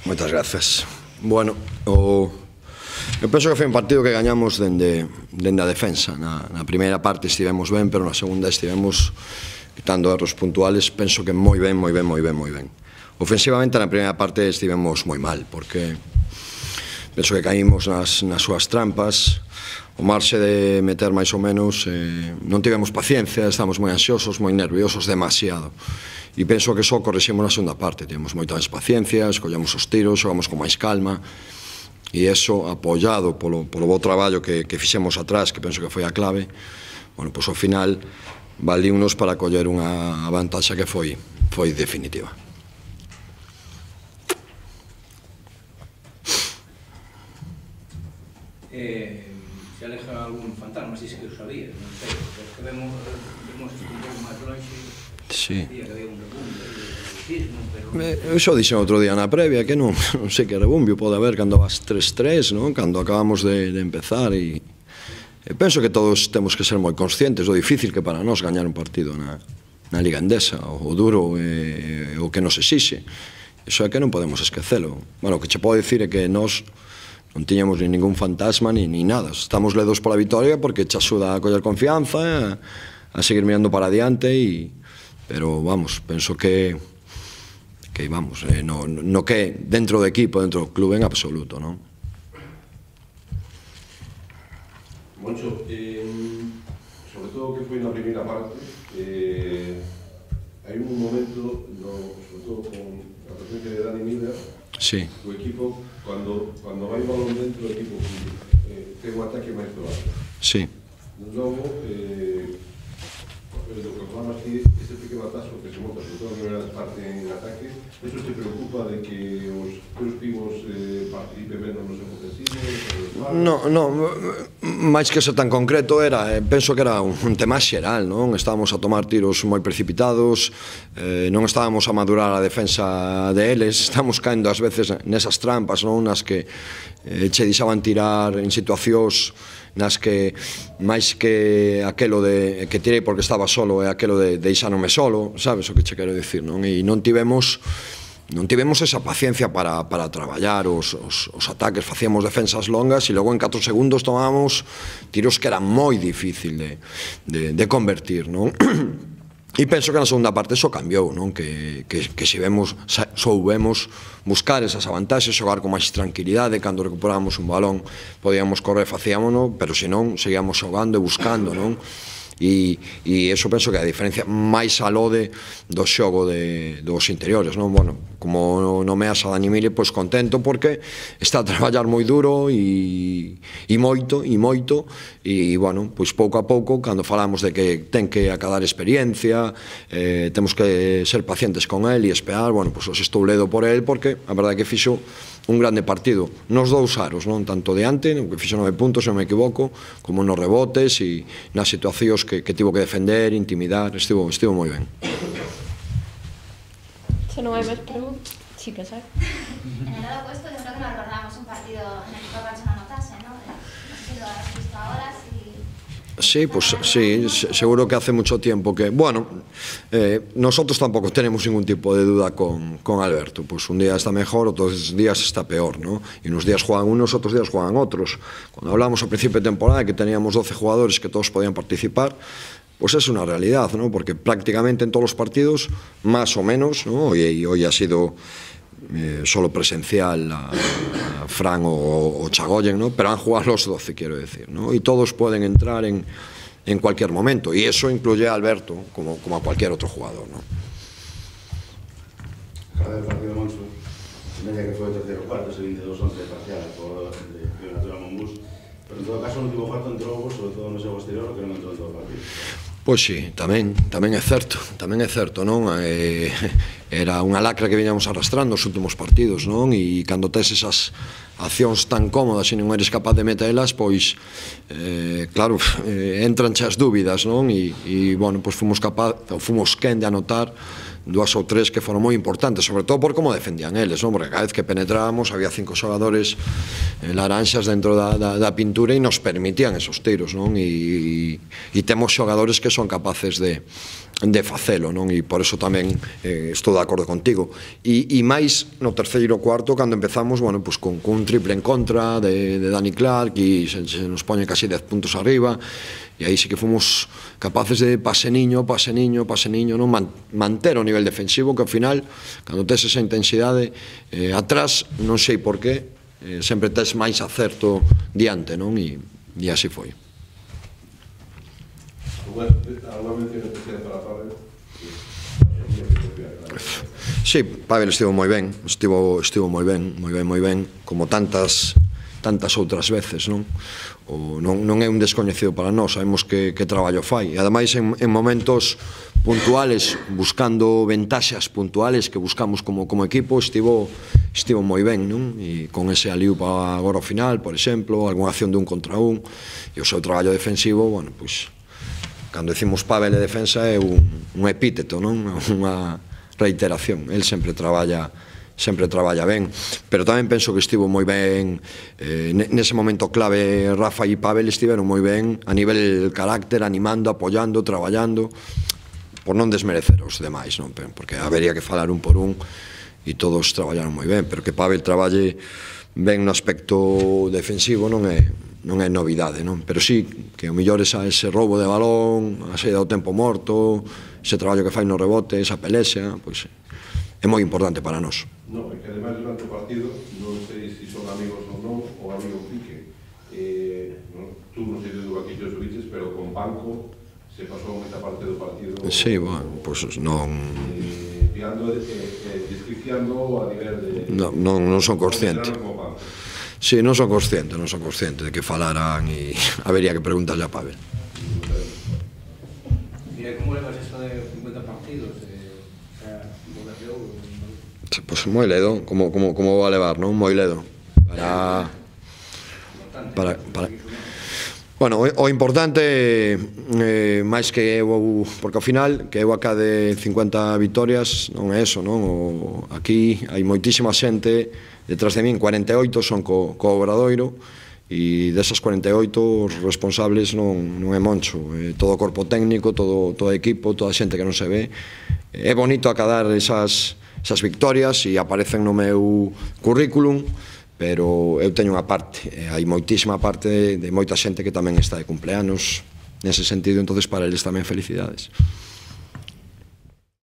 Moitas grazas. Bueno, eu penso que foi un partido que gañamos dende a defensa. Na primeira parte estivemos ben, pero na segunda estivemos quitando erros puntuales, penso que moi ben. Ofensivamente na primeira parte estivemos moi mal, porque penso que caímos nas súas trampas. O marxe de meter máis ou menos, non tivemos paciencia, estamos moi ansiosos, moi nerviosos, demasiado. E penso que só correxemos na segunda parte, tivemos moita máis paciencia, escollemos os tiros, xogamos con máis calma, e eso, apoiado polo bo traballo que fixemos atrás, que penso que foi a clave, bueno, pois ao final valiunos para coller unha vantaxe que foi definitiva. Se aleja algún fantasma, si que o sabía, non sei, porque que vemos un pouco máis longe, que había un rebumbio, eu xo dixen outro día na previa que non sei que rebumbio pode haber cando vas 3-3, cando acabamos de empezar, e penso que todos temos que ser moi conscientes do difícil que para nós gañar un partido na Liga Endesa, o duro o que nos exixe. Iso é que non podemos esquecelo. Bueno, o que che podo dicir é que nós non tiñamos ni ningún fantasma ni nada. Estamos ledos pola vitoria porque che axuda a coller confianza, a seguir mirando para adiante, pero vamos, penso que vamos, no que dentro do equipo, dentro do club en absoluto, non? Moncho, sobre todo que foi na primeira parte, hai un momento, sobre todo con a presencia de Dani Miller, o equipo, cando vai o balón dentro, o equipo ten un ataque máis probado. Logo, do que falamos aquí, ese pequeno atasco que se monta, sobre todo a primeira parte en ataque, eso te preocupa de que os teus pivos participen menos nos ofensivos? Non, máis que ser tan concreto, penso que era un tema xeral, non? Estábamos a tomar tiros moi precipitados, non estábamos a madurar a defensa deles, estamos caendo ás veces nesas trampas, non? Nas que che deixaban tirar en situacións nas que máis que aquelo de que tirei porque estaba solo é aquelo de deixarme solo, sabes o que che quero dicir, non? E non tivemos esa paciencia para traballar os ataques, facíamos defensas longas e logo en 4 segundos tomábamos tiros que eran moi difícil de convertir, non? E penso que na segunda parte iso cambiou, non? Que soubemos buscar esas avantaxes, xogar con máis tranquilidade, cando recuperábamos un balón podíamos correr, facíamono, pero se non, seguíamos xogando e buscando, non? E iso penso que a diferencia máis alode do xogo dos interiores, non? Bueno, como nomeas a Dani Miller, pois contento porque está a traballar moi duro e moito, e, bueno, pois pouco a pouco, cando falamos de que ten que acadar experiencia, temos que ser pacientes con el e esperar, bueno, pois os estou ledo por el, porque a verdade é que fixo un grande partido nos dous aros, non? Tanto de ante, que fixo 9 puntos, se non me equivoco, como nos rebotes e nas situacións que tivo que defender, intimidar, estivo moi ben. Se non hai máis preguntas, sí que sai. En el lado opuesto, yo creo que nos recordamos un partido en el que Copa se anotase, ¿no? No sé si lo has visto ahora, Sí, pues sí, seguro que hace mucho tiempo que... Bueno, nosotros tampoco tenemos ningún tipo de duda con Alberto. Pues un día está mejor, otros días está peor, ¿no? Y unos días juegan unos, otros días juegan otros. Cuando hablamos al principio de temporada que teníamos 12 jugadores que todos podían participar, pues es una realidad, ¿no? Porque prácticamente en todos los partidos, más o menos, ¿no? Y hoy ha sido solo presencial a Fran o Chagoyen, ¿no? Pero han jugado los 12, quiero decir, ¿no? Y todos pueden entrar en cualquier momento, y eso incluye a Alberto como a cualquier otro jugador, ¿no? Cada partido Moncho, media que foi o terceiro cuarto, ese 22-11 parcial por Natura Monbús, pero en todo caso o último cuarto entrou, sobre todo no seu exterior, que non entrou en todo o partido. Pois sí, tamén é certo, non? Era unha lacra que viñamos arrastrando os últimos partidos, non? E cando tes esas accións tan cómodas e non eres capaz de metelas, pois, claro, entranche as dúbidas, non? E, bueno, pois fomos quen de anotar 2 ou 3 que foron moi importantes, sobre todo por como defendían eles, non? Porque cada vez que penetrábamos había 5 xogadores laranxas dentro da pintura e nos permitían esos tiros, non? E temos xogadores que son capaces de facelo, non? E por eso tamén estou de acordo contigo. E máis no terceiro cuarto, cando empezamos, bueno, pues con un triple en contra de Dani Clark, e se nos poñen casi 10 puntos arriba, e aí sí que fomos capaces de pase niño, non? Manter o nivel defensivo, que ao final, cando tes esa intensidade atrás, non sei por qué, sempre tes máis acerto diante, non? E así foi. ¿Alguna mención especial para Pavel? Sí, Pavel estivo moi ben, moi ben, como tantas outras veces, non? Non é un descoñecido para nós, sabemos que traballo fai, e ademais en momentos puntuales, buscando ventaxas puntuales que buscamos como equipo, estivo moi ben, non? E con ese aliú para agora ao final, por exemplo, algunha acción de un contra un, e o seu traballo defensivo, bueno, pois cando decimos Pavel de defensa é un epíteto, non? Unha reiteración. El sempre traballa ben, pero tamén penso que estivo moi ben nese momento clave. Rafa e Pavel estiveron moi ben a nivel carácter, animando, apoyando, traballando, por non desmerecer os demais, non? Porque habería que falar un por un e todos traballaron moi ben, pero que Pavel traballe ben no aspecto defensivo non é novidade, non? Pero sí, que o mellor ese roubo de balón, a saída do tempo morto, ese traballo que fai no rebote, esa pelexa, pois é moi importante para nós. No, é que ademais durante o partido, non sei se son amigos ou non, o amigo Pique, tú non sei de do aquí que os viches, pero con Banco se pasou moita parte do partido. Sí, bueno, pois non... Piando desquiciando a nivel de... Non son consciente. Sí, non son consciente de que falaran, e habería que preguntarle a Pavel. Mira, como levas eso de 50 partidos? Pois moi ledo, como va a levar, non? Moi ledo. Bueno, o importante, máis que eu, porque ao final, que eu acade 50 vitorias, non é eso, non? Aquí hai moitísima xente detrás de min, 48 son co Obradoiro, e desas 48 os responsables non é Moncho, todo o corpo técnico, todo o equipo, toda a xente que non se ve. É bonito acadar esas victorias e aparecen no meu currículum, pero eu teño unha parte, hai moitísima parte de moita xente que tamén está de cumpleanos nese sentido, entonces para eles tamén felicidades.